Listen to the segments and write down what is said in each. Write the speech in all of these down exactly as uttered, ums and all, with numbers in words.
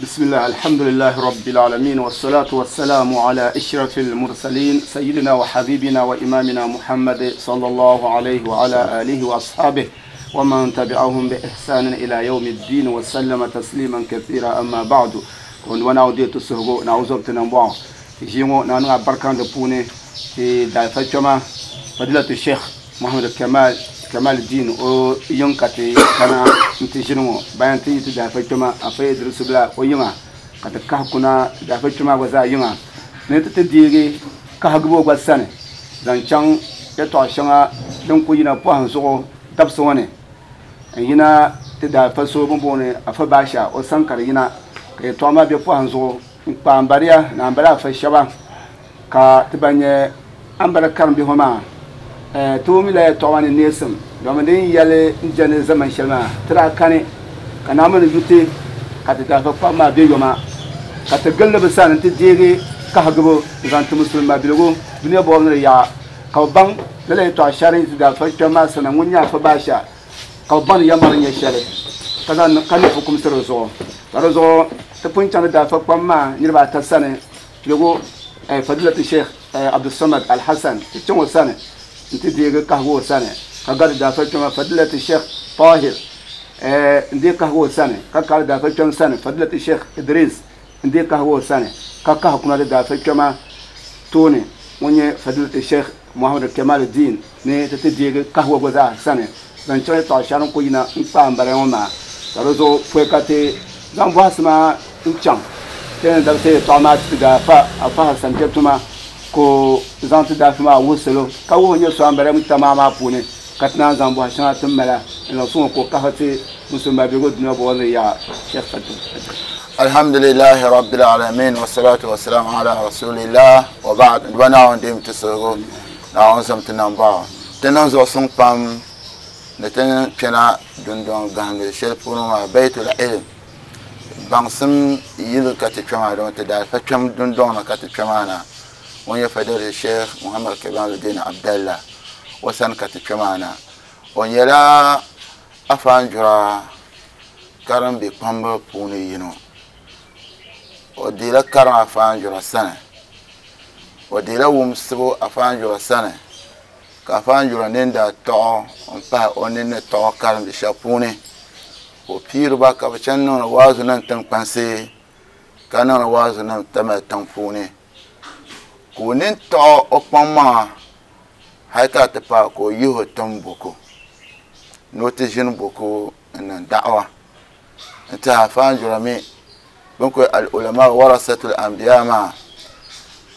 بسم الله الحمد لله رب العالمين والصلاة والسلام على أشرف المرسلين سيدنا وحبيبنا وإمامنا محمد صلى الله عليه وعلى آله وأصحابه ومن تبعهم بإحسان إلى يوم الدين وسلم تسليما كثيرا أما بعد ونعودي تسهغو نعوذ بتنبع جيمو نانو بركان دبوني في دافة فضيلة الشيخ محمد كمال كمال الدين او ينكتي كان انتجنو بيان تي تدافة أفاي درس بلا ويما قد كهكنا دافة وزا يما نت تديري كهغبو غسانه زانچان يتوشنا دنكو ينا بوهن سو تبسونه ينا تدافة سو بونبوني أفا باشا او سانكار ينا كي توما بي بوهن سو بامباريا نامبلا فشبا كا تبانيه أمبلا كارم بهما تومي لا تواني نيسم دومدين يالي جن زمن شلما ترى كاني كان من جوتي كاتدا فما بيوما كاتغل بسان انت ديري كهغبو زانت مسلم ما بيلغو دنيا بون يا كوبان لا تو اشارين تدا فما سنه منيا فباشا كوبان يا مارن يشالي كذا كان حكم سرزو سرزو تبون دا فما نيربا تسانه بيلغو فضيلة الشيخ عبد الصمد الحسن تشون سنه انت ديغ كهو سنه كغاد دافع فضيلة الشيخ طاهر ندي كهو سنه كغاد دافع سنه فضيلة الشيخ إدريس ندي كهو سنه ككه كنا دافع توني وني فضيلة الشيخ محمد كمال الدين ني تديغ كهو غزا سنه زنچه طاشان كوينا نبام بريوما ترزو فوكاتي زامباسما نچان تن دافع طامات دافع افا سنتما ko zanti dafi maa wusilo ka wuhi nyɛ so ambara mi tamaa maa puuni ka ti naan zaŋ bɔhi shɛŋa ti mala n zaŋ sɔŋ ko kahi ti musulma bihigu dunia bɔɔli yaa Sheikh Fatu. Alhamdulillahi rabbil alamin wa salatu wa salam ala rasulillah wa ba'd. Wa na'un dim tisugu na'un zam tinamba tinan zo sɔŋ pam ni tin kpɛna dundɔŋ gahindi shɛli puuni maa Baitul Ilm baŋsim yili ka ti kpɛ maa don ti daalifa kpɛm dundɔŋ ni ka ti kpɛ maa na وني فضيلة الشيخ محمد كمال الدين عبد الله وسن كتشمانا ونيلا أفانجرا كرم بكمب بوني ينو وديلا كرم أفانجرا سنة وديلا ومسبو أفانجرا سنة كأفانجرا نيندا تو أمبا أونين تو كرم بشابوني وبيرو باكا بشنون وازنن تنقنسي كانون وازنن تم تنفوني Kunin to okpama haika te pa ko yuho tomboko noti jin boko na da'wa ta fanjura mi bunko al ulama warasatul anbiya ma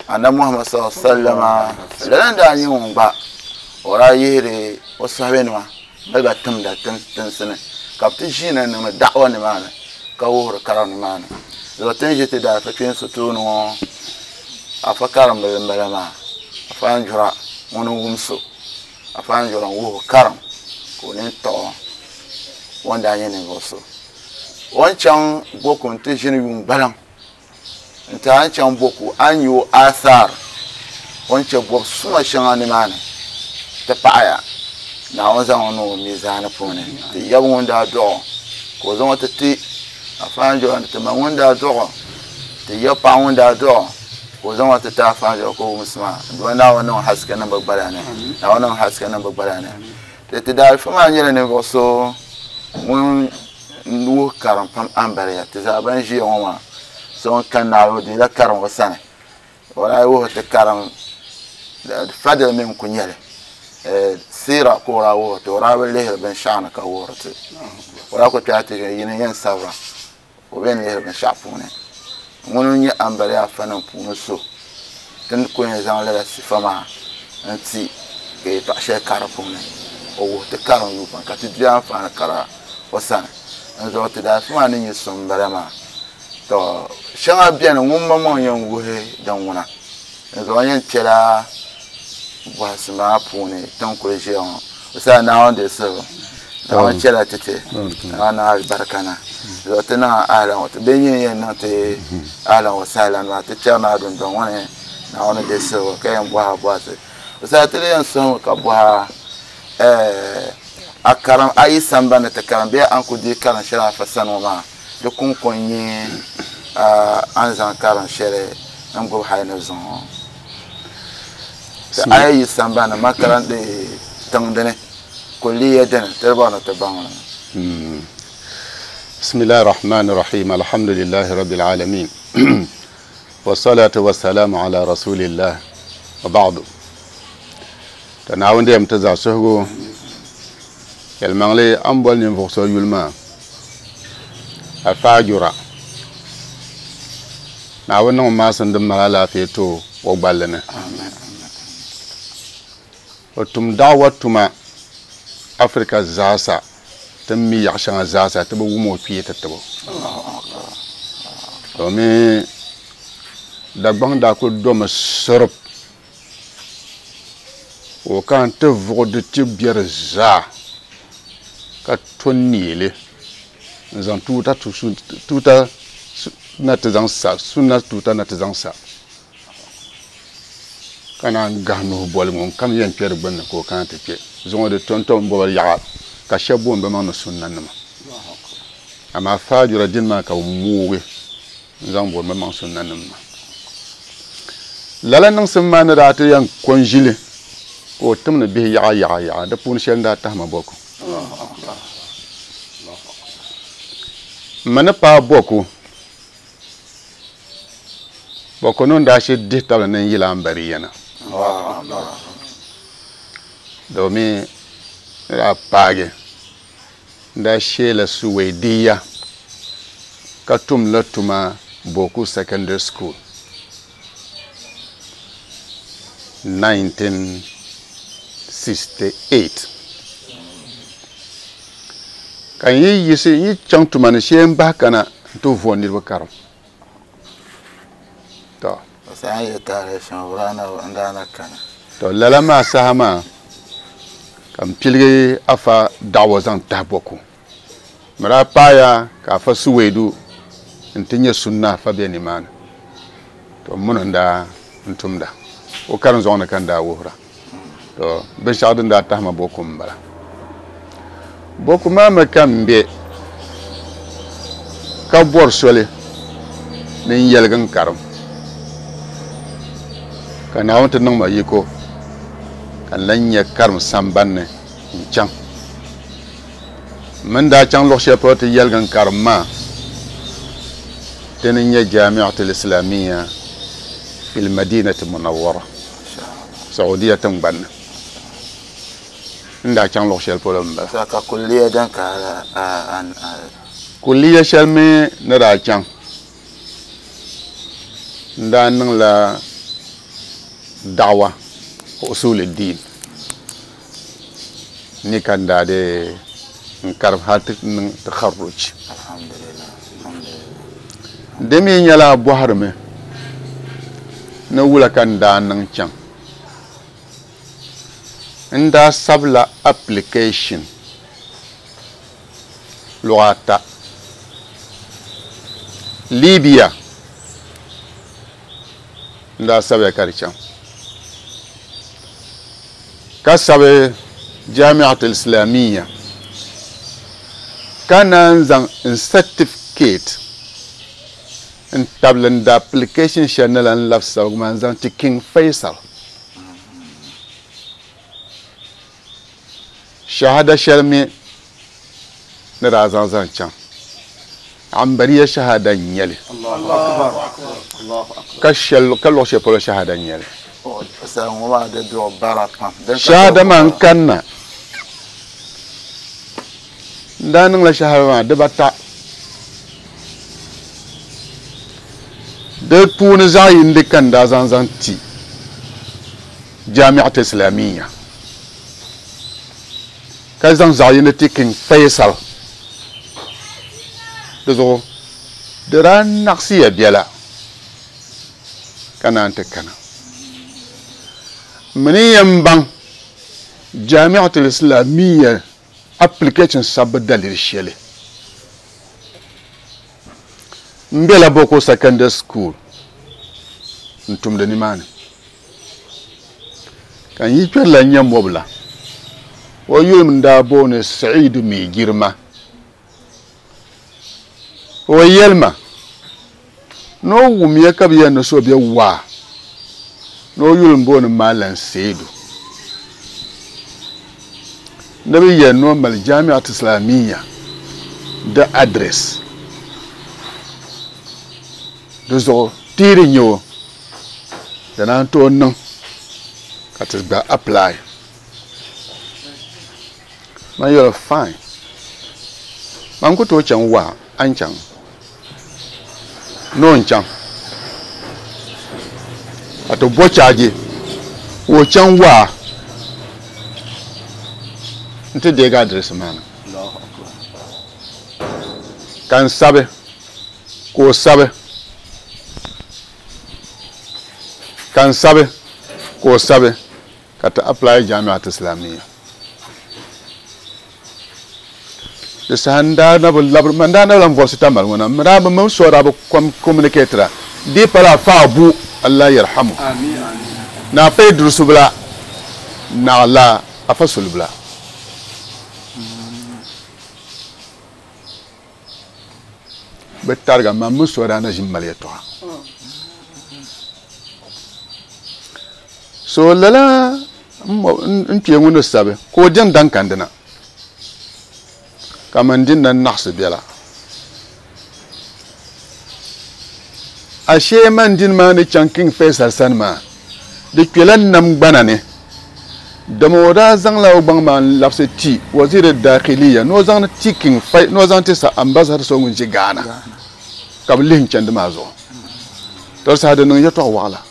anna Muhammad sallallahu alaihi wasallam lan da ni ngba ora yire o sabenwa daga tumda tun sene kapti jina na da'wa ni mana ka wuro karam ni mana zotin jiti da fa kin sutuno afa karam balama afa anjura wonu wumso afa anjura wo karam ko ne to wanda yin goso wancan boko nti jini yun balan nta ancan boko an yu athar wancan bob suma shanga ni mana ta paaya na wanzan wono mizana pone ti yab wanda do ko zan wata ti afa anjura ti ma wanda do ti yab pa wanda do ko zan wata ta fara ko musulma don na wannan haske nan babbara ne na wannan haske nan babbara ne da ta da fama ne ne go so mun nu karam pam ambare ya ta zaban ji yawa so kan na ro da karam wasana wala wo ta karam fadal min kunyale eh sira ko rawo to rawo lehir ben shana ka worte wala ko ta ta yin yan sabra o ben lehir ben shafune ŋuni nyɛ ambaliya fanim puuni so tin ku yɛn zaŋ lala sifa maa n-ti ka yɛltɔɣa shɛli ka di puuni o wuhi ti karim yuu pam ka ti di anfaani kara o sani n zuɣu ti daalifa maa ni nyɛ so m-bala maa to shɛŋa beni ŋun maŋmaŋ yɛn wuhi din ŋuna n zuɣu yɛn kpɛla bɔhisi maa puuni tin kuli ʒiya ŋɔ o sani Naawuni deei siligu Naawuni chɛla ti ti Naawuni niŋ alibarika na zuɣu ti niŋ ahlan bɛ nyɛ yɛn niŋ ti ahlan wa sahlan maa ti chɛri naa dundɔŋ ŋɔ ni Naawuni deei siligu ka yɛn bɔha bɔhisi o sani ti yɛn suhimi ka bɔha a karim a yi sambani ti karim bee an ku deei karim shɛli afa sani ŋɔ maa di kuŋko n-nyɛ a ni zaŋ karim shɛli n gbubi hali ni zuŋɔ ti a yi yi sambani makaranta tiŋ dini kulliya dini ti di bɔri ni ti baŋ li. بسم الله الرحمن الرحيم الحمد لله رب العالمين والصلاة والسلام على رسول الله وبعد تناون ديم تزا سهغو يلمغلي أمبول ننفق يلما أفاجرا ناون نو ما سندم مالا في تو وقبلنا وتم دعوة تما أفريقيا زاسا تمي يعشان زاسا تبو ومو فيه تتبو domin Dagbaŋ daa kuli domi sirip o kana ti vuɣi di ti biɛri zaa ka to neeli n zaŋ tuuta tuuta na ti zaŋ sa sunna tuuta na ti zaŋ sa ka naan gahi nuhi boli ŋun kam yɛn kpɛ di gbunni ka o kana ti kpɛ zuŋɔ di tom-tom bɔba yaɣa ka shɛba booni bi maŋ ni sunna nima amaa faajura dini maa ka bi moogi n zaŋ booni bi maŋ sunna nim maa lala niŋsim maa ni daa ti yɛn ko n ʒili ka o tim ni bihi yaɣa yaɣa yaɣa di puuni shɛli n daa tahima bɔku m ma ni paai bɔku bɔku ni n daa shɛ dihi tabili ni n yila Ambariya na domin ni daa paagi n daa sheela Suwaidiya ka tum la tuma Boku Secondary School nineteen sixty-eight ka n yi yiɣisi n yi chaŋ tuma ni shee n bahi kana n ti vo niriba karim to to lala maa saha maa ka n piligi afa da'wa zaŋ tahi Boku mi daa paaya ka afa Suwaidu n ti nyɛ sunna afa be nimaani to muni n daa n tumda o karim zuɣu ni ka n daa wuhira to binshɛɣu din daa tahima Boku n bala Boku maa mi ka n be ka bɔri soli ni n yɛligi n karim ka Naawuni ti niŋ ma yiko ka n lan nyɛ karim sambanni n chaŋ min daa chaŋ luɣu shɛli polo ti yɛligi n karim maa dini n nyɛ Jamiatul Islamiyya fil Madinati Munawwara Saudiya tiŋgbanni n daa chaŋ luɣu shɛli polo n bala ka kulliya din ka kulliya shɛli mi ni daa chaŋ n daa niŋla da'wa usul din ni kan daa de n karim hal ti niŋ takharruj di mi nyɛla bɔhirimi ni wula ka n daa niŋ chaŋ n daa sabila application luɣa ata Libya n daa sabiya ka di chaŋ ka sabi Jamiatul Islamiyya ka naan zaŋ n certificate n tabili n da application shɛli ni la n labi sabigu maa n zaŋ ti King Faisal shahada shɛli mi ni daa zaŋ zaŋ chaŋ Ambariya shahada n nyɛli ka shɛli ka luɣu shɛli polo shahada n nyɛli shahada maa n kanna n daa niŋla shahada maa dibata di puuni zaɣ yindi ka n daa zaŋ zaŋ ti Jamiat Islamiyya ka zaŋ zaɣ yindi ti King Faisal di zuɣu di daa naɣisiya biɛla ka naan ti kana mini yɛn baŋ Jamiatul Islamiyya application sabbu daliri shɛli n bela Boko Secondary School n tumdi nimaani ka n yi kpɛrila n nyɛ mobila o yuli n daa booni Sa'idu Mai Girma o yɛlima No wumya ka bɛ yɛn ni so bɛ waa ni o yuli m-booni Malam Seidu ni bɛ yɛn ni o mali Jamiat Islamiyya di address di zuɣu tiiri nyɛ o di naan tooi niŋ ka ti gba apply. Man yɛli fine, man ku tooi chaŋ waa a ni chaŋ ni o ni chaŋ ka ti bo chaaji ka o chaŋ waa n-ti deegi address maa na ka n sabi ka o sabi ka n sabi ka o sabi ka ti apply Jamiat Islamiyya. Di saha n daa na bi labiri, man daa na bi lan vɔbisi tamali ŋɔ na, m daa bi mini so daa bi communicate-ra di pala afa Abu Allah yarhamu na afa Idrisu bila naɣila afa Suli bila. Bɛ tariga man mini so daa na ʒini mali yɛltɔɣa. So lala n kpee ŋun ni sabi ka o diɛm daŋ kandina ka man din na naɣisi biɛla. Ashee man din maa ni chaŋ King Faisal sani maa di kpela nam gbana ni dama o daa zaŋla o gbaŋ maa n-labisi ti waziri dakhiliya ni o zaŋ ti King Faisal ni o zaŋ ti sa ambassador so ŋun ʒi Ghana ka bɛ lihi n-chandi maa zuɣu. To saha di niŋ yɛltɔɣa waɣila.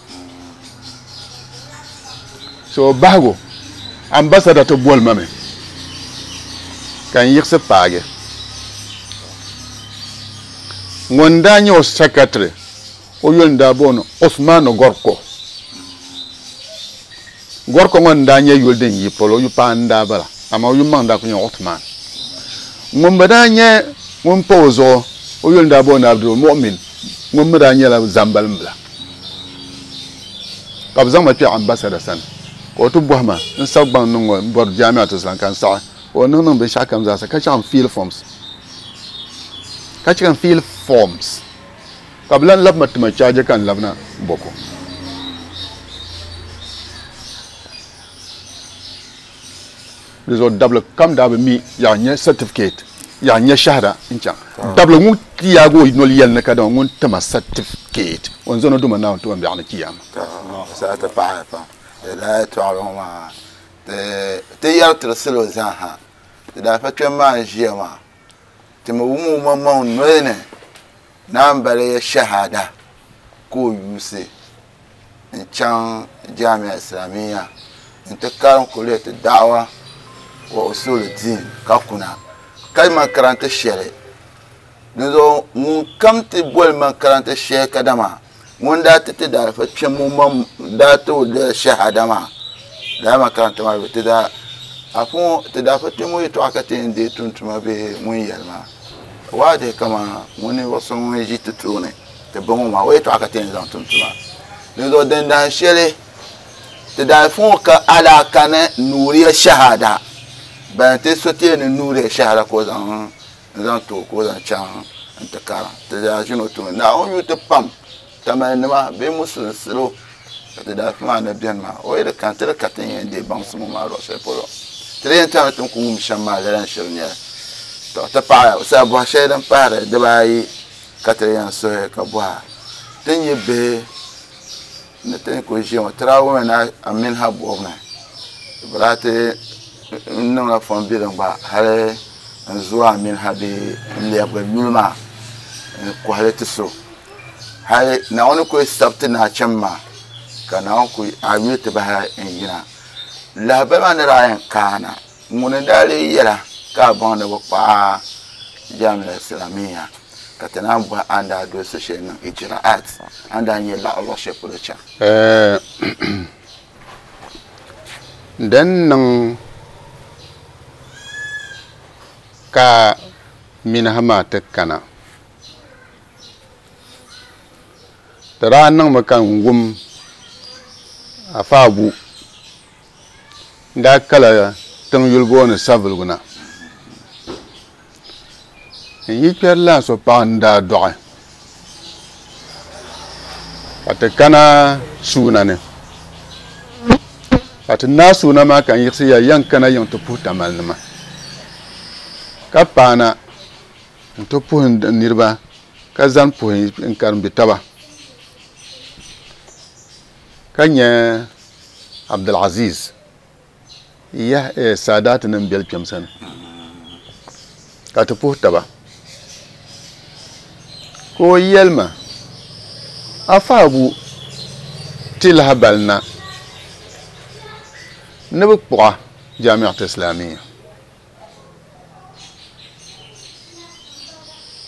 So bahigu ambassador ti boli ma mi ka n yiɣisi paagi. Ŋun daa nyɛ o secretary o yuli n daa booni Osman Gorko. Gorko ŋɔ n daa nyɛ yuli din yi polo, o yu paɣa n daa bala, amaa o yu maŋ daa ku nyɛ Osman. Ŋun bi daa nyɛ ŋun pa o zuɣu o yuli n daa booni Abdul Mu'min, ŋun mi daa nyɛla Zambalim bila. Ka bɛ zaŋ ma kpe ambassador sani ka o ti bɔhi ma n sabi gbaŋ niŋ ŋɔ n bɔri Jamiat Islam ka n saɣi o niŋ niŋ binshɛɣu kam zaasa ka chaŋ fill forms ka chaŋ fill forms ka bɛ lan labi ma tima chaaji ka n labina Boko. Di zuɣu dabili kam daa bi mi yaa nyɛ certificate yaa nyɛ shahada n chaŋ dabili ŋun ti yaagi o noli yɛli ni kadama ŋun tima certificate o ni zaŋ o duma Naawuni tuma biɛɣu ni kiyama. Sa ti paɣaya pam di daa yɛltɔɣili ŋɔ maa ti yɛri tiri salo zaa ha ti daa fa kpɛm maa n ʒiya maa ti mi wum o maŋmaŋ noli ni naan bala ya shahada ka o yuusi n chaŋ Jamia Islamiyya n ti karim kuliyat da'wa wa usul din ka kuna ka makaranta shɛli di zuɣu ŋun kam ti boli makaranta shɛli kadama ŋun daa ti ti daa fa kpɛm ŋun maŋ daa ti o shahada maa daa makaranta maa ti daa afu ti daa fa kpɛm ŋɔ yɛltɔɣa ka ti yɛn deei tuntuma bee ŋun yɛli maa waa dihi kama ŋun ninvuɣu so ŋun ʒi ti tooni ti bi ŋɔ maa o yɛltɔɣa ka ti yɛn zaŋ tum tuma di zuɣu din dahin shɛli ti daa fa ŋɔ ka alaaka ni nuuriya shahada ban ti so ti ni nuuriya shahada ka o zaŋ n zaŋ ti o ka o zaŋ chaŋ n ti karim ti daa ʒini o tooni Naawuni yu ti pam tamali nima bee musulinsilo ka ti daa fi maa ni beni maa o yi di kani ti di ka ti yɛn deei baŋsim maa luɣu shɛli polo ti di yɛn tami ti ni ku wum shɛm maa lala n shiri nyɛli to ti paɣaya sa bɔhi shɛli din pahiri dibaayi ka ti yɛn suhi ka bɔha ti nyɛ bihi ni ti ni ku ʒiya ŋɔ tiraawumi na Aminha bɔbu ni bɛ daa ti niŋla fɔn bilim gba hali n zuwa Aminha bee n lɛbigi yuli maa n kɔhili ti so hali Naawuni ku sabi ti nachim maa ka Naawuni ku a yuli ti bahi n yina lahabali maa ni daa yɛn kaana ŋuni daa lee yɛla ka a baŋ ni bi kpaɣa Jamia Islamiyya ka ti naan bɔhi a ni daa doli so shɛli niŋ ijraat a ni daa nyɛ laɣa luɣu shɛli polo chaŋ. Din niŋ ka Minha maa ti kana di daa niŋmi ka n wum Afa Abu n daa kala tiŋ yuli booni Savelugu na n yi kpɛri laa so paɣa n daa dɔɣi Ka ti kana suuna ni ka ti naa suuna maa ka n yiɣisi ya yan kana yiŋ ti puhi Tamalinima ka paana n ti puhi n niriba ka zani puhi n karimbi taba ka nyɛ Abdulaziz ya Saadaati nim beli kpɛm sani ka ti puhi taba ka o yɛlima afaabu ti lahabali na ni bi kpuɣa Jamiat Islamiyya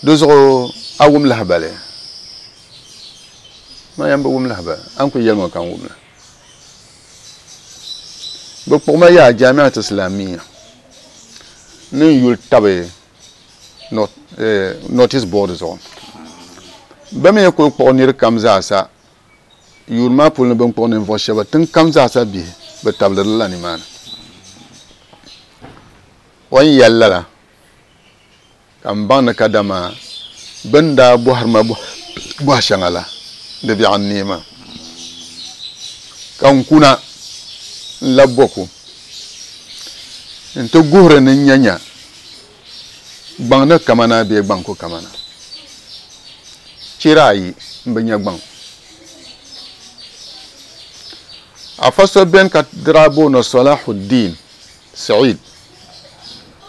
di zuɣu a wum lahabali ma yɛn bi wum lahabali an ku yɛlima ka n wumli bi kpuɣima yaa Jamiat Islamiyya ni n yuli tabi notice board zuɣu bɛ mi kuli kpuɣi niri kam zaasa yuuni maa puuni bin kpuɣi ninvuɣu shɛba tiŋ kam zaasa bihi bi tabili la nimaani o ni yɛli lala ka n baŋ ni kadama bin daa bɔhiri ma bɔhi shɛŋa la di biɛɣu n neei maa ka n kuna n labi Bɔku n ti guhiri ni n nya nya gbaŋ ni kamana bee gbaŋ ku kamana chira ayi n bi nya gbaŋ afa so beni ka daa booni Salahuddin Said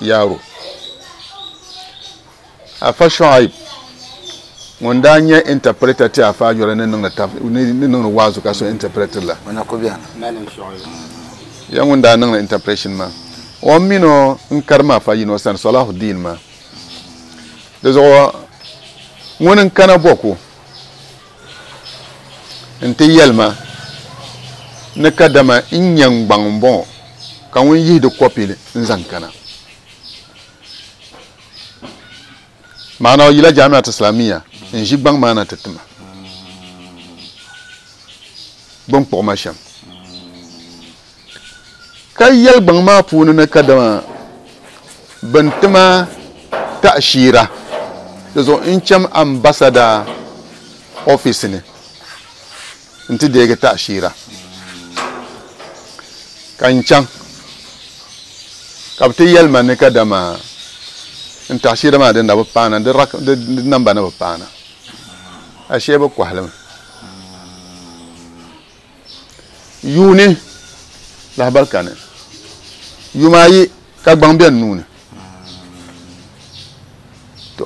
Yaro afa Shuaib ŋun daa nyɛ interpreter ti afa Ajura ni niŋdi waazu ka so interpreter la ya ŋun daa niŋdi interpretation maa o mini o n karima afa yino sani Salahuddin maa di zuɣu ŋuni n kana Bɔku n ti yɛlima ni kadama n nyɛ n gbaŋ n bɔŋɔ ka ŋun yihi di kɔpi n zaŋ kana maana o yila Jamiat Islamiyya n ʒi gbaŋ maa na ti tima bin kpuɣi ma shɛm ka yɛli gbaŋ maa puuni ni kadama bin tima ta'shira di zuɣu n cham ambassador office ni n ti deegi ta'shira ka n chaŋ ka bi ti yɛlima ni kadama n ta'shira maa din na bi paana di namba na bi paana ashee bi kɔhilimi yuuni lahabali kani yuma ayi ka gbaŋ bɛ n nuuni to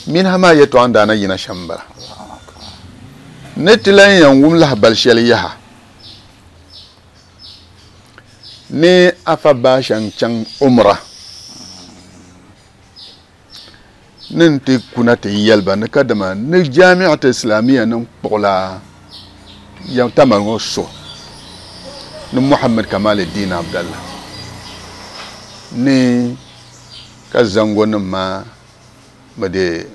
minha maa yɛltɔɣa n daa na yina shɛm n bala ni ti lan yɛn wum lahabali shɛli yaha ni afa Baasha n chaŋ umra ni n ti kuna ti yɛliba ni kadama ni Jamiat Islamiyya ni kpuɣila Tamale ŋɔ so ni Muhammad Kamaluddin Abdallah ni ka zango nim maa bi de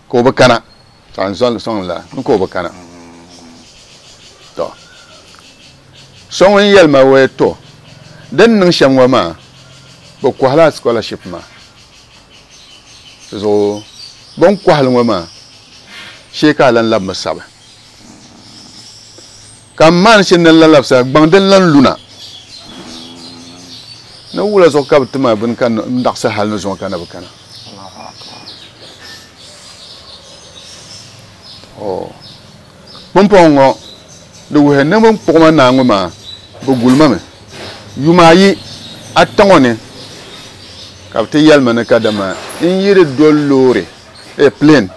ka o bi kana ka n sɔŋ la ni ka o bi kana to so ŋun yɛlima wai to din niŋ shɛm ŋɔ maa bi kɔhila scholarship maa zuɣu bin kɔhili ŋɔ maa shee ka a lan labimi sabi ka n maani shɛli ni lan labisa gbaŋ din lan luna ni wula zuɣu ka bi tima bini ka n daɣisi hali ni zuɣu ka na bi kana pumpɔŋɔ ŋɔ di wuhi ni bin kpuɣima naa ŋɔ maa bi gulima mi yuma ayi ata ŋɔ ni ka bi ti yɛlima ni kadama n yi di doli loori plane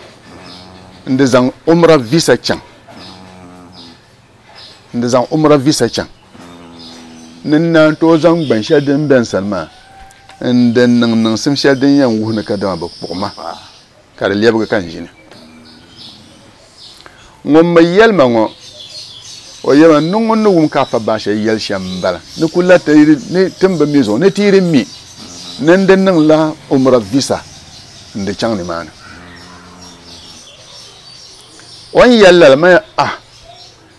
n di zaŋ umra visa chaŋ n di zaŋ umra visa chaŋ ni n naan tooi zaŋ gban shɛli din bɛ n sani maa n di niŋ niŋsim shɛli din yɛn wuhi ni kadama bi kpuɣi ma ka di lɛbigi ka n ʒini ŋun mi yɛlima ŋɔ o yɛlima ni ŋun ni wum ka afa Baasha yɛli shɛm n bala ni ku la ni tin bi mi zuɣu ni ti yi mi ni n di niŋla umra visa n di chaŋ nimaani o ni yɛli lala ma ah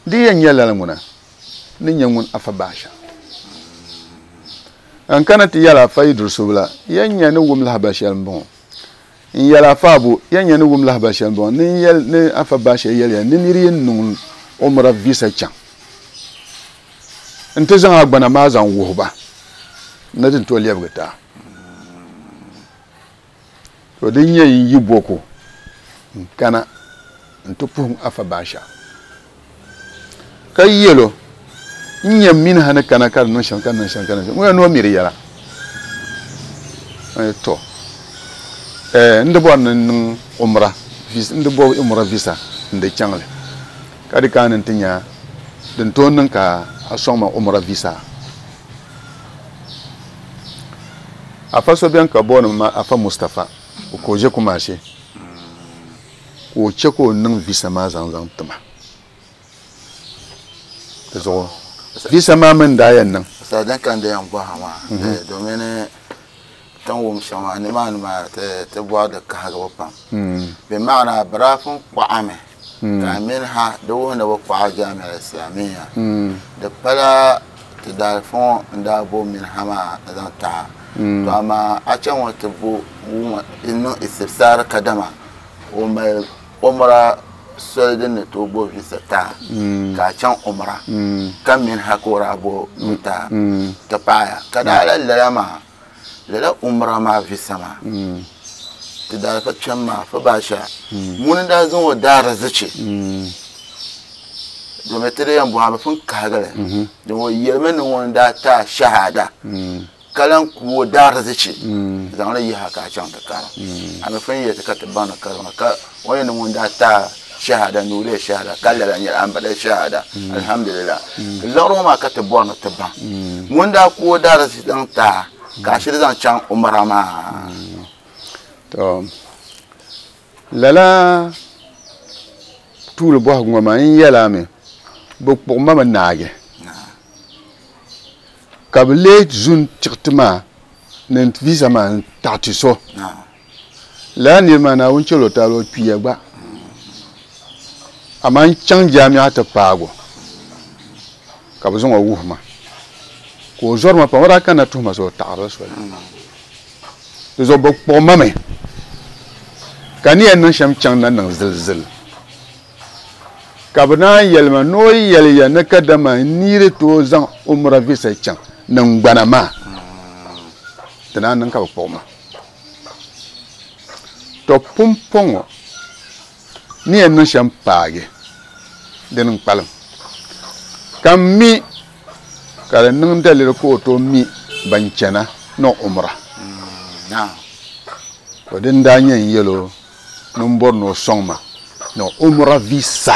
di yɛn nyɛ lala ŋuna ni nyɛ ŋun afa Baasha n kana ti yɛli afa Idrisu la yɛn nyɛ ni wum lahabali shɛli n bɔŋɔ n yɛli afa Abu yɛn nyɛ ni wum lahabali shɛli n bɔŋɔ ni yɛli ni afa Baasha yɛliya ni niri yi niŋ umra visa chaŋ n ti zaŋ a gbana maa zaŋ wuhi ba ni din tooi lɛbigi taa to din nyɛ n yi boko n kana n ti puhim afa baasha ka yɛlo n nyɛ mini ha ni kana ka di niŋ shɛm ka niŋ shɛm ka niŋ shɛm ŋɔ ni o miri yɛla to n di bɔri ni niŋ umra visa n di bɔ umra visa n di chaŋli ka di kaani n ti nya din tooi niŋ ka a sɔŋ ma umra visa afa so bɛni ka booni ma afa Mustafa o ka o ʒe Kumasi ka o che ka o niŋ visa maa zaŋ zaŋ tima di zuɣu visa maa mini daa yɛn niŋ sa din kan da yɛn bɔha maa domin tin wum shɛm maa nimaani maa ti bɔri di kahigibu pam bi maana bɛ daa pun kpaɣami ka mini ha di wuhi ni bi kpaɣa Jamia Islamiyya di pala ti daalifu ŋɔ n daa bo mini ha maa zaŋ taha to amaa a chaŋ ŋɔ ti bo niŋ istifsaar kadama o mali umra soli din ni tooi bo visa taa ka a chaŋ umra ka mini ha ka o daa bo taa ti paaya ka daa la lala maa lala umra maa visa maa ti daalifa kpɛm maa fa baasha ŋuni daa zaŋ o daarizichi domin ti di yɛn bɔhi bi pun kahigili din o yɛlimi ni ŋuni daa taa shahada ka lan ku o daarizichi zaŋli yiha ka a chaŋ ti karim a mi pun yɛli ti ka ti baŋ ni karima ka o yɛn ni ŋuni daa taa shahada ni o lee shahada ka lala nyɛla an ba shahada alhamdulillah liɣiri ŋɔ maa ka ti bɔri ni ti baŋ ŋuni daa ku o daarizichi zaŋ taa ka a shiri zaŋ chaŋ umra maa to lala tuuli bɔhigu ŋɔ maa n yɛla mi bi kpuɣi ma mi naagi ka bi lee zu n tiɣiti maa ni visa maa n taɣi ti so lala niri maa Naawuni chɛli o taali o kpiya gba amaa n chaŋ jaami'a ti paago ka bi zaŋ o wuhi ma ka o zɔri ma pam o daa kanna tuhi ma so o taɣarila soli di zuɣu bi kpuɣi ma mi ka ni yɛn niŋ shɛm chaŋ na niŋ zilzil ka bi naan yɛli ma ni o yɛli ya ni kadama n niiri tooi zaŋ umra visa chaŋ niŋ gbana maa ti naan niŋ ka bi kpuɣi ma to pumpɔŋɔ ni yɛn niŋ shɛm paagi dini n kpalim ka n mi ka di niŋ daliri ka o tooi mi ban chana ni umra to din daa nyɛ n yɛlo ni n bɔri ni o sɔŋ ma ni umra visa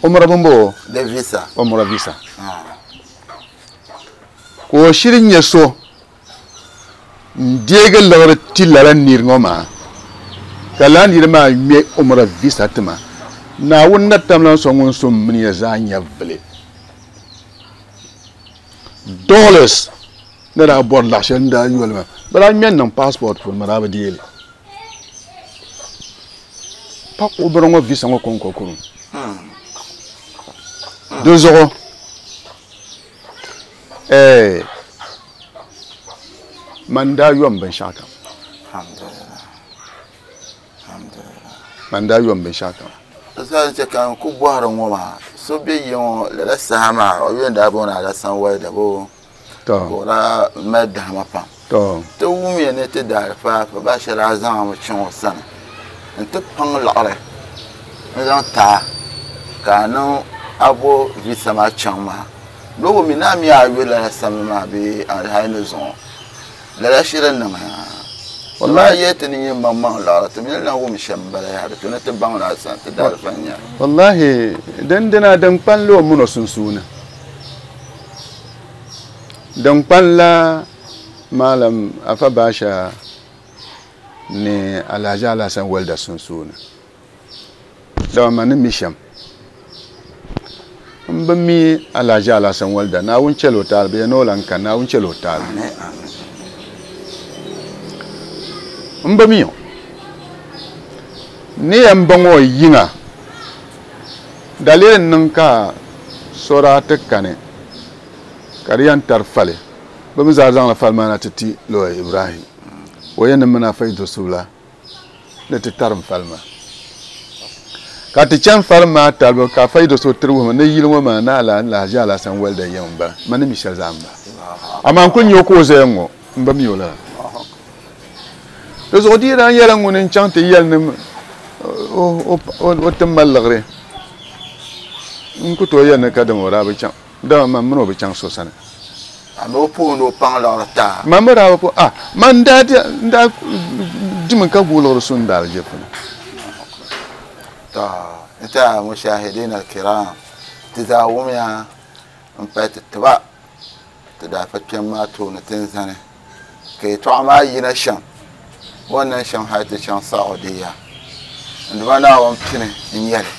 umra bimbo de visa umra visa ka o shiri nyɛ so n deegi liɣiri ti lala niri ŋɔ maa ka lala niri maa ŋmɛ umra visa ti ma Naawuni na tamla so ŋun so mini ya zaa nyɛvili dollars ni daa bɔri laɣ shɛli n daa yoli ma bi daa ŋmɛ niŋ passport puuni ma daa bi deeli pa umra ŋɔ visa ŋɔ kɔŋko kurum di zuɣu eh man daa yom binshɛɣu kam man daa yom binshɛɣu kam sa che kan ku bɔhiri ŋɔ maa so be yi ŋɔ lala saha maa o yɛn daa booni Alasan Walda bo to ka o daa mali dahama pam to ti wumiya ni ti daalifa fa ba shɛli daa zaŋmi chaŋ o sani n ti paŋ liɣiri n zaŋ taa ka a niŋ a bo visa maa chaŋ maa logo mi na mi a yuli lala samli maa bee hali ni zuɣu lala shiri niŋ wallahi yɛ ti ni nyɛ maŋmaŋ liɣiri ti mi lan wum shɛm bala yaha di to ni ti baŋ la sani ti daalifa n nyɛ wallahi din dina din kpanla o mini o sunsuuni din kpanla Malam Afa Baasha ni Alhaji Alhassan Walda sunsuuni dama ma ni mi shɛm n bi mi Alhaji Alhassan Walda Naawuni chɛli o taali bi yɛn ni o lan ka Naawuni chɛli o taali n bi mi o ni yɛn baŋ o yiŋa daliri n niŋ ka so daa ti kani ka di yɛn tari fali bi mi zaa zaŋla fali maa na ti ti Lawyer Ibrahim o yɛn ni mini Afa Idrisula ni ti tarim fali maa Ka ti chaŋ fari maa talibu ka fa yi do so tiri wuhimi ni yili ŋɔ maa ni ala Alhaji Alhassan Walda yɛm m-bala ma ni mi shɛli zaa m-bala amaa n kuli nya o ka o zaya ŋɔ m bi mi o lala di zuɣu di yi daa nyɛla ŋuni n chaŋ ti yɛli ni o ti mali liɣiri n ku tooi yɛli ni ka dama o daa bi chaŋ dama man mini o bi chaŋ so sani a o puuni o paŋ liɣiri taa man mi daa bi puhi ah man daa daa dimi ka guui liɣiri su n daalijifu ni nta mushahidin al-kiram ti zaa wumya n pahi ti tiba ti daa fa kpɛm maa tooni ti n zani ka yɛltɔɣa maa yina shɛm wannan shɛm hali ti chaŋ Saudiya n dima Naawuni pini n nyɛli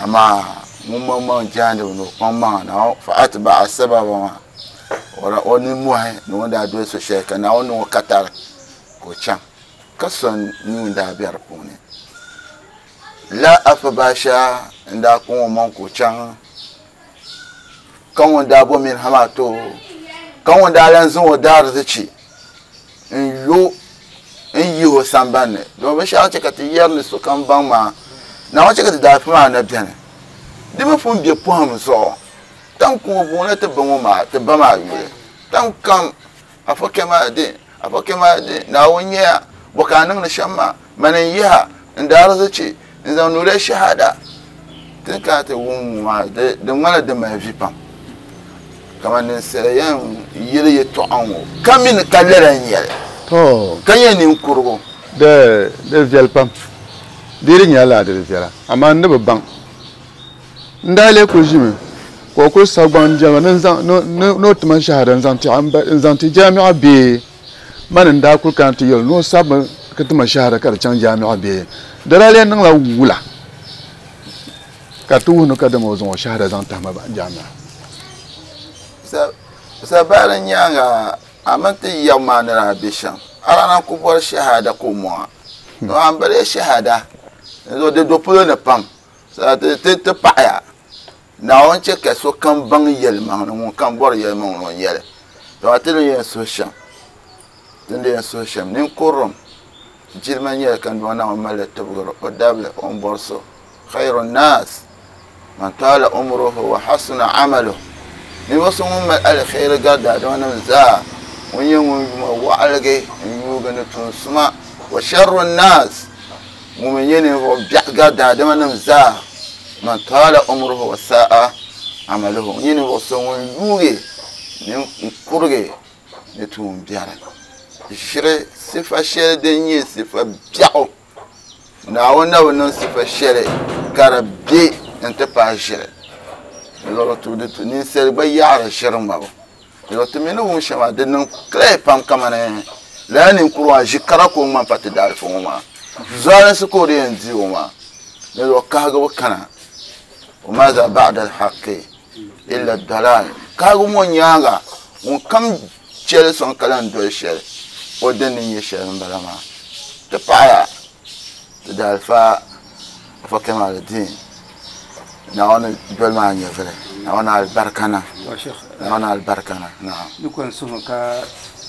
amaa ŋun maŋmaŋ jaandibi ni o kpaŋ maŋa na fa atba'a sababa maa o nimmohi ni o ni daa doli so shɛli ka Naawuni niŋ o katari ka o chaŋ ka so nuu daa be di puuni la afa baasha n daa kpaŋ o maŋ ka o chaŋ ka ŋun daa bo mini hama to ka ŋun daa lan zaŋ o daarzichi n yo n yihi o sambanni domin binshaɣu chɛ ka ti yɛri ni sokam baŋ maa Naawuni chɛ ka ti daafi maa na bɛni di mi pun be pɔhim zuɣu tam kuma buŋla ti ba ŋɔ maa ti ba maa yuli tam kam afa kɛmaa din afa kɛmaa din Naawuni nyɛya bɔ ka a niŋdi shɛm maa mani n yiha n daarzichi n zaŋ nuuriya shahada tin kana ti wum maa di ŋmanila di mali vi pam kamani ninsala yɛn yeli yɛltɔɣa ŋɔ ka mini ka lala n nyɛli to ka nyɛ ninkurigu di di viɛli pam di di nyɛla laa di di viɛla amaa n ni bi baŋ n daa lee kuli ʒimi ka o kuli sabi gbaŋ jɛma ni o tima shahada n zaŋ ti jaami'a bee mani n daa kuli kana ti yɛli ni o sabimi ka tima shahada ka di chaŋ jaami'a bee di daa lee niŋla wula ka ti wuhi ni ka dama o zaŋ o shahada zaŋ tahima jaami'a sabari nyaanga a mini ti yaɣu maa ni daa be shɛm a daa na ku bɔri shahada ka o mɔŋa a ni bari shahada di do polo ni pam ti paɣaya Naawuni chɛ ka sokam baŋ yɛlimaŋli ŋun kam bɔri yɛlimaŋli o nyɛli to ti ni yɛn suhi shɛm ti ni yɛn suhi shɛm ninkurum jilima nyɛli ka Naawuni mali tibigiri o dabili o ni bɔri so khairu nnaas man taala umruhu wa hasuna amaluhu ninvuɣu so ŋun mali alkhairi gari daadamanim zaa ŋun nyɛ ŋun yuma waɣaligi n yuugi ni tuun suma wa sharru nnaas ŋun mi nyɛ ninvuɣu biɛɣu gari daadamanim zaa man taala umruhu wa sa'a amaluhu ŋun nyɛ ninvuɣu so ŋun yuugi n kurigi ni tuun biɛri ʒiri sifa shɛli din nyɛ sifa biɛɣu Naawuni na bi niŋ sifa shɛli ka di be n ti pahi ʒiri ninsali gba yaɣari ʒiri ŋmabu ti mi ni wum shɛm maa di niŋ clear pam kamani lala ninkuri maa ʒi kara ka o ŋmani pa ti daalifu ŋɔ maa zualinsi ka o di yɛn di o maa di zuɣu kahigibu kana wa maza ba'da alhaqi illa dalal kahigibu ŋɔ nyaanga ŋun kam chɛli sɔŋ ka lan doli shɛli o din ni nyɛ shɛli n bala maa ti paɣaya ti daalifa afa Kamaluddin Naawuni doli maa nyɛvili Naawuni alibarika na Naawuni alibarika na naam ni ko n suhu ka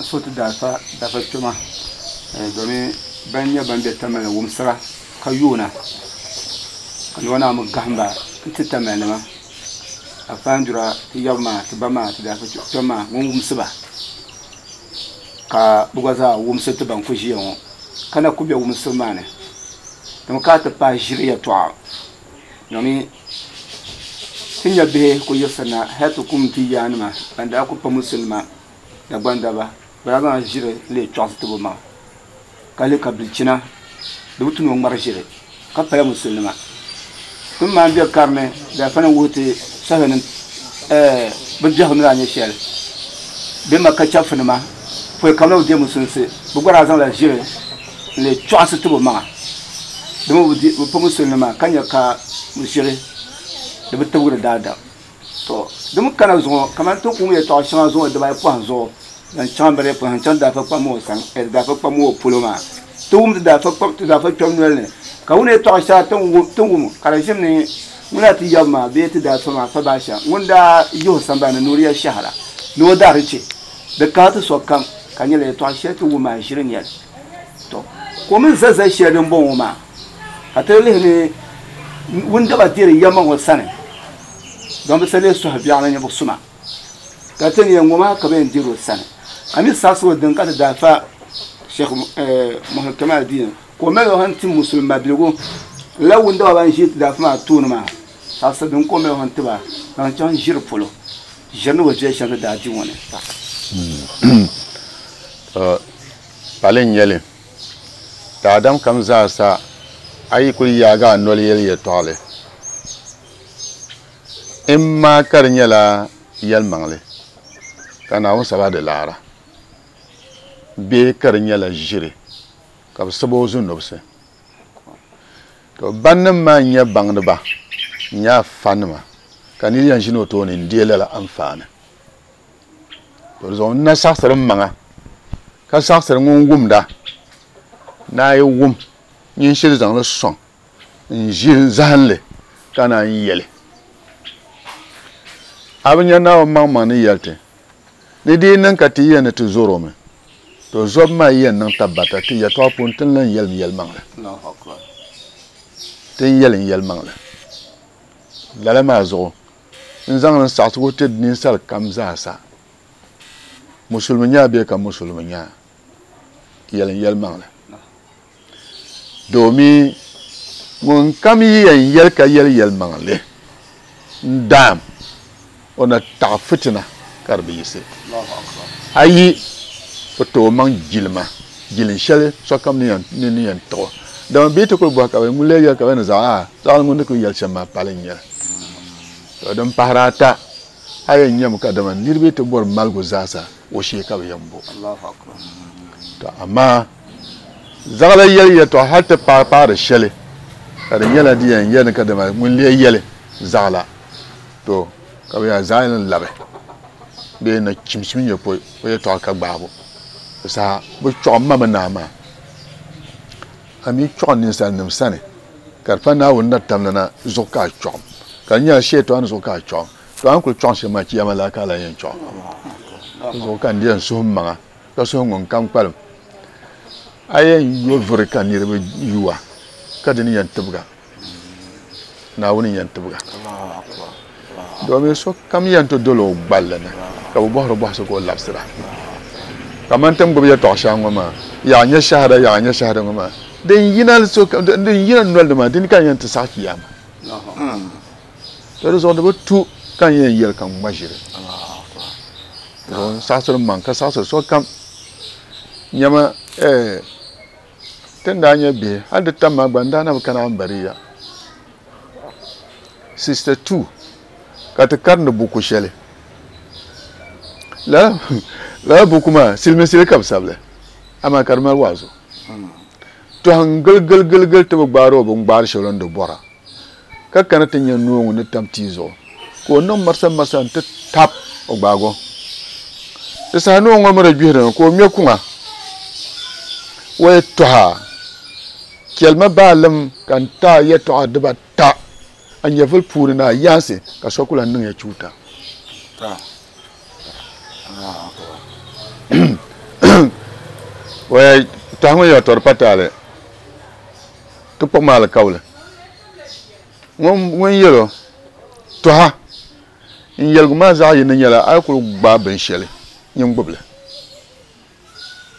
so ti daalifa dafa kpɛma domin ban nyɛ ban be Tamale wumsira ka yoona ka noo naa mi gahamba n ti Tamale nima afaandura ti yabi maa ti ba maa ti daalifa kpɛma maa ŋun wumsiba ka bi gba zaa wumsi ti ban ku ʒiya ŋɔ ka na ku be wumsibu maa ni dimi ka ti pahi ʒiri yɛltɔɣa domin ti nya bihi ku yiɣisirina hali ti kum ti yaanima ban daa ku pa musulima Dagbandaba bi daa zaŋ ʒiri n-lee chɔɣisi ti bi maŋa ka lihi ka bilichina di bi tu ni o ŋmari ʒiri ka pala musulima tin maa be karini daafa ni wuhi ti sahinim bi biɛhigu ni daa nyɛ shɛli bɛ Maka chɛfurinima pɔi ka bɛ na bi deei musulinsi bɛ gba daa zaŋla ʒiri n-lee chɔɣisi ti bi maŋa dimi bi pa musulinima ka nya ka ʒiri di bi tibigiri daadam to di mi kana zuɣu kamani ti kum yɛltɔɣa shɛŋa zuɣu dibaayi pɔhim zuɣu zaŋ chaŋ bari pɔhim zaŋ chaŋ daafa kpam ŋɔ sani daafa kpam ŋɔ polo maa ti wum ti daafa kpam ti daafa kpɛm noli ni ka wuni yɛltɔɣa shɛŋa ti wum ka di ʒim ni ŋun daa ti yabi maa bee ti daafa maa fa baasha ŋun daa yihi o sambani ni nuuriya shahara ni o daari chɛ di kahi ti sokam ka nyɛla yɛltɔɣa shɛli ti wum maa ʒiri nyɛli to ko mi za za shɛli din bɔŋɔ maa ka ti lihi ni wundaba diri yamma ŋɔ sani don bi sali suhi biɛɣu ni nyɛ suma ka ti ni ŋɔ maa ka bi yɛn diri o sani a mi saɣasigu din ka ti daa fa Sheikh Muhammad Kamal Din ka o mali o han ti musulima biligu la wundaba ban ʒi ti daa fa maa tooni maa saɣasi din ka o mali o han tiba zaŋ chaŋ ʒiri polo ʒiri ni bi viɛli shɛm ti daa di ŋɔ ni. Pali n nyɛli daadam kam zaasa a yi kuli yaagi a noli yɛli yɛltɔɣali in maa ka di nyɛla yɛlimaŋli ka Naawuni saba di laara bee ka di nyɛla ʒiri ka bi sabi o zunubisi to bannim maa n nyɛ baŋdiba n nyɛ afanima ka niri yɛn ʒini o tooni n deei lala anfaani to di zuɣu n na saɣasiri n maŋa ka saɣasiri ŋun wumda naa yi wum nyin shiri zaŋli sɔŋ n ʒi n zahinli ka naan yɛli a bi nya Naawuni maŋmaŋ ni yɛli ti ni di yi niŋ ka ti yɛn ni ti zɔro mi to zɔbu maa yɛn niŋ tabbata ti yɛltɔɣa puuni ti ni lan yɛlim yɛlimaŋli ti ni yɛlim yɛlimaŋli lala maa zuɣu n zaŋli n saɣasigu ti ninsal kam zaasa musulimi nyaa bee ka musulimi nyaa yɛlim yɛlimaŋli domin ŋun kam yi yɛn yɛli ka yɛli yɛlimaŋli n daam o na taɣi fitina ka di bi yiɣisi ayi o ti o maŋ jilima jilin shɛli sokam ni yɛn tiɣi o dama bee ti kuli bɔhi ka bi ŋun lee yɛli ka bi ni zaɣ a zaɣali ŋun ni kuli yɛli shɛm maa pali n nyɛli to din pahari ata a yɛn nyɛmi ka dama niriba ti bɔri maligu zaasa o shee ka bi yɛn bo to amaa zaɣala yɛli yɛltɔɣa hali ti paai paari shɛli ka di nyɛla di yɛn yɛli ka dama ŋun lee yɛli zaɣala to ka bi yɛn zaɣ yɛn labi bee na chimchim nyɛ pɔi o yɛltɔɣa ka gbaabu saha bi chɔɣu ma mi naa maa a mi chɔɣu ninsalinima sani ka di pa Naawuni na tamli na zuɣu ka a chɔɣum ka di nyɛla shɛtɔɣa ni zuɣu ka a chɔɣum to a ni kuli chɔɣum shɛm maa chiyama laa ka a lan yɛn chɔɣum zuɣu ka n di yɛn suhi n maŋa ka suhi ŋun kam kpalim a yɛn yo vuri ka niriba yuwa ka di ni yɛn tibiga Naawuni yɛn tibiga domin sokam yɛn ti doli o gballi ni ka bi bɔhiri bɔhisi ka o labisira kaman ti ni gbubi yɛltɔɣa shɛŋa ŋɔ maa yaɣa nyɛ shahada yaɣa nyɛ shahada ŋɔ maa din yina din yina noli ni maa dini ka n yɛn ti saɣi kiyama to di zuɣu di bi tu ka n yɛn yɛli ka n ŋma ʒiri zuɣu n saɣasiri n maŋ ka saɣasiri sokam nyɛma ti ni daa nyɛ bihi hali di tam maa gba n daa na bi kana Ambariya sixty two ka ti karindi buku shɛli lala lala buku maa silimiinsili ka bi sabili amaa ka di mali waazu tɔhi n gili gili gili gili ti bi gbaari o bin gbaari shɛli o ni di bɔra ka kana ti nyɛ noo ŋun ni tam tia zuɣu ka o niŋ marisa marisa n ti tap o gbaago di saha noo ŋɔ mi di gbihirimi ka o ŋmɛ kuŋa o yi tɔha chɛlima baalim ka n taai yɛltɔɣa dibata a nyɛvuli puuni ni a yaansi ka so ku lan niŋ ya chuuta tɔha ŋɔ yɛla tɔri pa taali ti kpuɣi ma alikauli ŋun yɛl o tɔha n yɛligu maa zaɣ yini nyɛla a yi kuli gbaai binshɛli nyin gbubili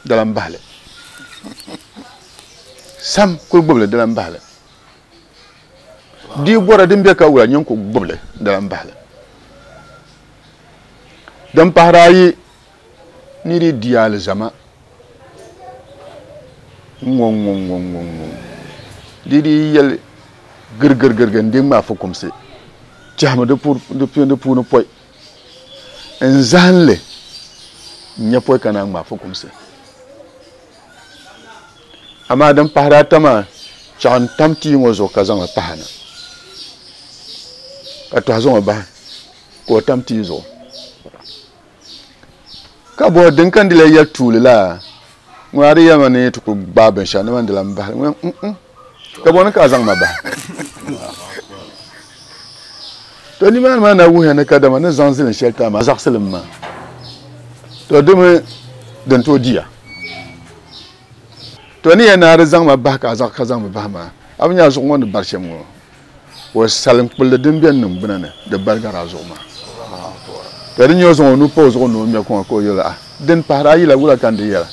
di lan bahili sam kuli gbubili di lan bahili di bɔra din bɛ ka wula nyin ku gbubili di lan bahili din pahiri ayi ni di di alizama ŋɔ ŋɔ ŋɔ ŋɔ ŋɔ di di yɛli girigirigirigi n di ŋmaa fukumsi tɛhimi di puuni pɔi n zahinli n nyɛ pɔi ka naan ŋmaa fukumsi amaa din pahiri ata maa chaɣ n tam tia ŋɔ zuɣu ka zaŋli pahi na ka tɔhi zaŋ o bahi ka o tam tia zuɣu ka bɔhi din ka n di la yɛli tuuli laa ŋun a di yɛlima ni ti kuli gbaai binshɛɣu ni man di lan bahi ŋun ka bɔni ka a zaŋ ma bahi to nimaani maa na wuhiya ni kadama ni zaŋ zilin shɛli ti a maa zaɣisili maa to dimi din tooi diya to ni yɛn naa di zaŋ ma bahi ka a zaɣ ka zaŋ mi bahi maa a bi nya zuɣu ŋɔ ni bari shɛm ŋɔ O salim kpulli din bɛ niŋ gbuna ni di barigara zuɣu maa ka di nyɛ o zaŋ o nuu pa o zuɣu ni o ŋmɛ kuŋa ka o yɛli a din pahari ayi la wula ka n di yɛla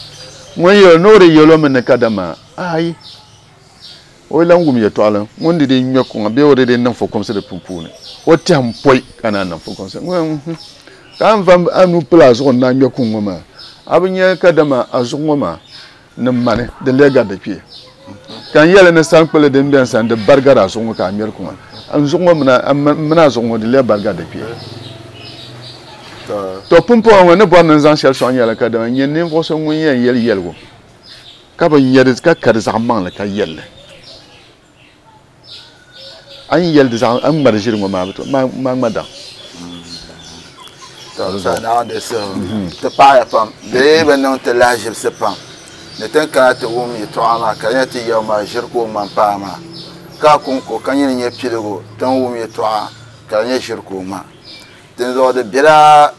ŋun yɛli ni o di yɛlo mi ni kadama ayi o lan wum yɛltɔɣali ŋun di di ŋmɛ kuŋa bee o di di niŋ fukumsi di puuni o tɛhim pɔi ka naan niŋ fukumsi ka n va a nuu pili a zuɣu ni a ŋmɛ kuŋ ŋɔ maa a bi nyɛ kadama a zuɣu ŋɔ maa ni mani di lee gari di kpee ka n yɛli ni sankpili din bɛni sani di barigari a zuɣu ŋɔ ka a ŋmɛri kuŋa n zuɣu ŋɔ mini a zuɣu ŋɔ di lee barigari di kpee to pumpɔŋɔ ŋɔ ni bɔri ni n zaŋ shɛli sɔŋ nyɛla kadama n nyɛ ninvuɣu so ŋun yɛn yɛli yɛligu ka bi nyɛ di ka ka di zaɣ maŋli ka yɛlli a ni yɛli di zaɣ a ni ŋmari ʒiri ŋɔ maa bi to maa ŋma daŋ ti paɣaya pam bee bi niŋ ti lahaʒibisi pam ni tin kana ti wum yɛltɔɣa maa ka di nyɛ ti yɛli maa ʒiri ka o ŋmani paa maa ka konko ka nyini nyɛ piligu tin wum yɛltɔɣa ka di nyɛ ʒiri ka o ŋma dinzuɣu di bela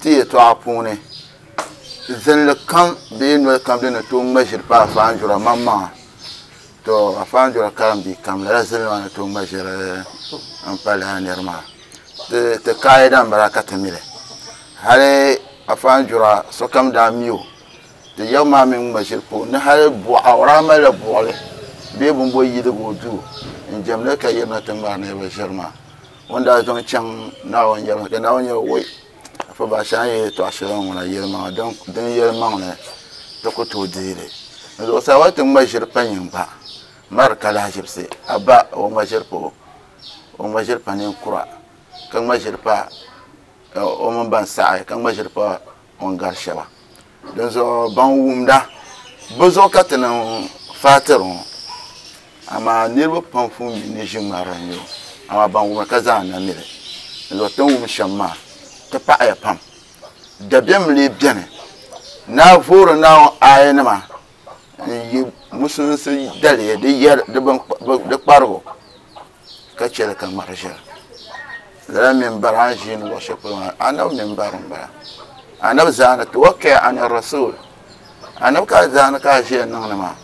ti yɛltɔɣa puuni zinli kam bee noli kam din ni tooi ŋma ʒiri pa afaanjura maŋmaŋa to afaanjura karimbi kam lala zinli maa ni tooi ŋma ʒiri n pa lala niri maa ti kaida n bala ka ti mili hali afaanjura sokam daa mi o ti yɛbu maa mi ŋma ʒiri pa o ni hali buɣa o daa malila buɣili bee bimbo yiligi o duu n jɛmli ka yirina ti ŋmari niriba ʒiri maa ŋun daa zaŋ chaŋ Naawuni yɛli ka Naawuni yɛli woi afa baasha n yɛli tɔɣa shɛli ŋuna yɛlimaŋli din yɛlimaŋli ti ku tooi deeli n zuɣusaa wa ti ŋma ʒiri pa nyin gba mari ka lahaʒibisi a ba o ŋma ʒiri pa o o ŋma ʒiri pa ninkura ka ŋma ʒiri pa o mini ban saɣi ka ŋma ʒiri pa o ni gari shɛba dinzuɣu ban wumda bi zuɣu ka ti niŋ faatiri ŋɔ amaa niriba pam pun mi ni ʒi ŋmarili n nyɛ o amaa ban wumda ka zaa na mili dinzuɣu ti ni wum shɛm maa ti paɣaya pam dabiɛm lee bɛni naa voori Naawuni aayanima n yi musulinsi daliya di yɛri di kparigu ka chɛli ka ŋmari ʒiri lala minbar a ni ʒiini luɣu shɛli polo maa anabi minbar n bala anabi zaani tawakkal ala rasul anabi ka zaani ka a ʒiya niŋdi maa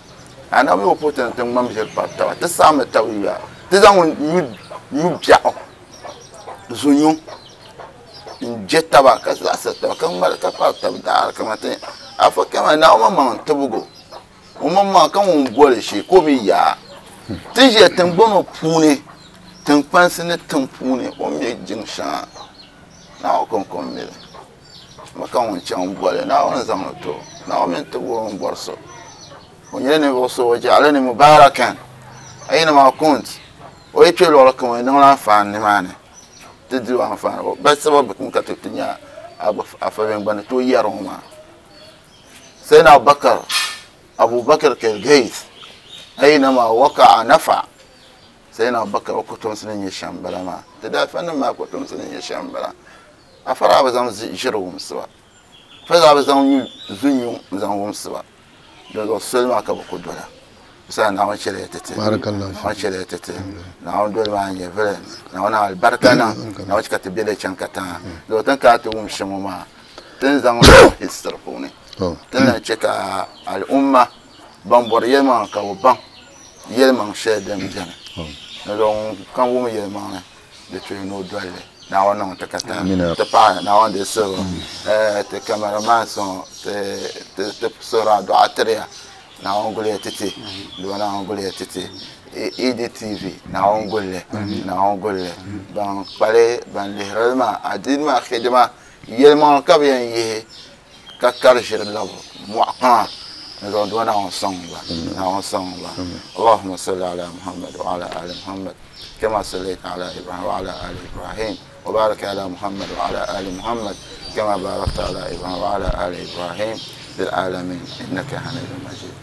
anabi mi o puhi ti ni ti ŋmam ʒiri pari taba ti saɣammi taba yuya ti zaŋ nyu biɛɣu zunyu n je taba ka zaɣasiri taba ka ŋmari ka pari taba daara kamani ti afa kama Naawuni maŋmaŋ tibigu o maŋmaŋ ka ŋun boli shee ka o mi yaa ti ʒiya tiŋgbani ŋɔ puuni tiŋkpansi ni tiŋ puuni o mi jiŋ shɛŋa Naawuni konko n mili ma ka ŋun chaŋ boli Naawuni zaŋli ti o Naawuni mini tibigu o ni bɔri so o nyɛla ninvuɣu so o jaɣali ni mubarakan aynama kunt o yi kpe luɣuli kam o niŋla anfaani nimaani ti diri anfaani ba sababi kum ka ti ti nya afa bɛn gba ni tooi yɛri ŋɔ maa Sayyidina Abubakar Abubakar Kilgais aynama waqa'a nafa Sayyidina Abubakar o kotomsi ni nyɛ shɛm bala maa ti daafanim maa kotomsi ni nyɛ shɛm bala afa daa bi zaŋ ʒiri wumsi ba afa daa bi zaŋ zunyu n zaŋ wumsi ba dinzuɣu soli maa ka bi ku dola bisa Naawuni chɛliya ti ti Naawuni chɛliya ti ti Naawuni doli maa n nyɛ vili Naawuni alibarika niŋ Naawuni chɛ ka ti bɛ li chaŋ katiŋa dinzuɣu tin kana ti wum shɛm ŋɔ maa tin zaŋ history puuni tin lan chɛ ka al'umma ban bɔri yɛlimaŋli ka bi baŋ yɛlimaŋ shɛli din bɛni dinzuɣu ŋun kam wum yɛlimaŋli di tuhi ni o doli li Naawuni niŋ ti katiŋa ti paɣa Naawuni di suhu ti cameraman ŋɔ ti ti suhuri adua tiriya Naawuni guliya titi doo Naawuni guliya titi E D T V Naawuni gulli Naawuni gulli ban kpali ban lihirili maa adiini maa hidima yɛlimaŋli ka bi yɛn yihi ka kari ʒiri labi mɔɣu kpaŋa dinzuɣu doo Naawuni sɔŋ ba Naawuni sɔŋ ba Allahumma salli ala Muhammad wa ala ali Muhammad kama sallaita ala Ibrahim wa ala ali Ibrahim wa barik ala Muhammad wa ala ali Muhammad kama barakta ala Ibrahim wa ala ali Ibrahim fil alamin innaka hamidun majid.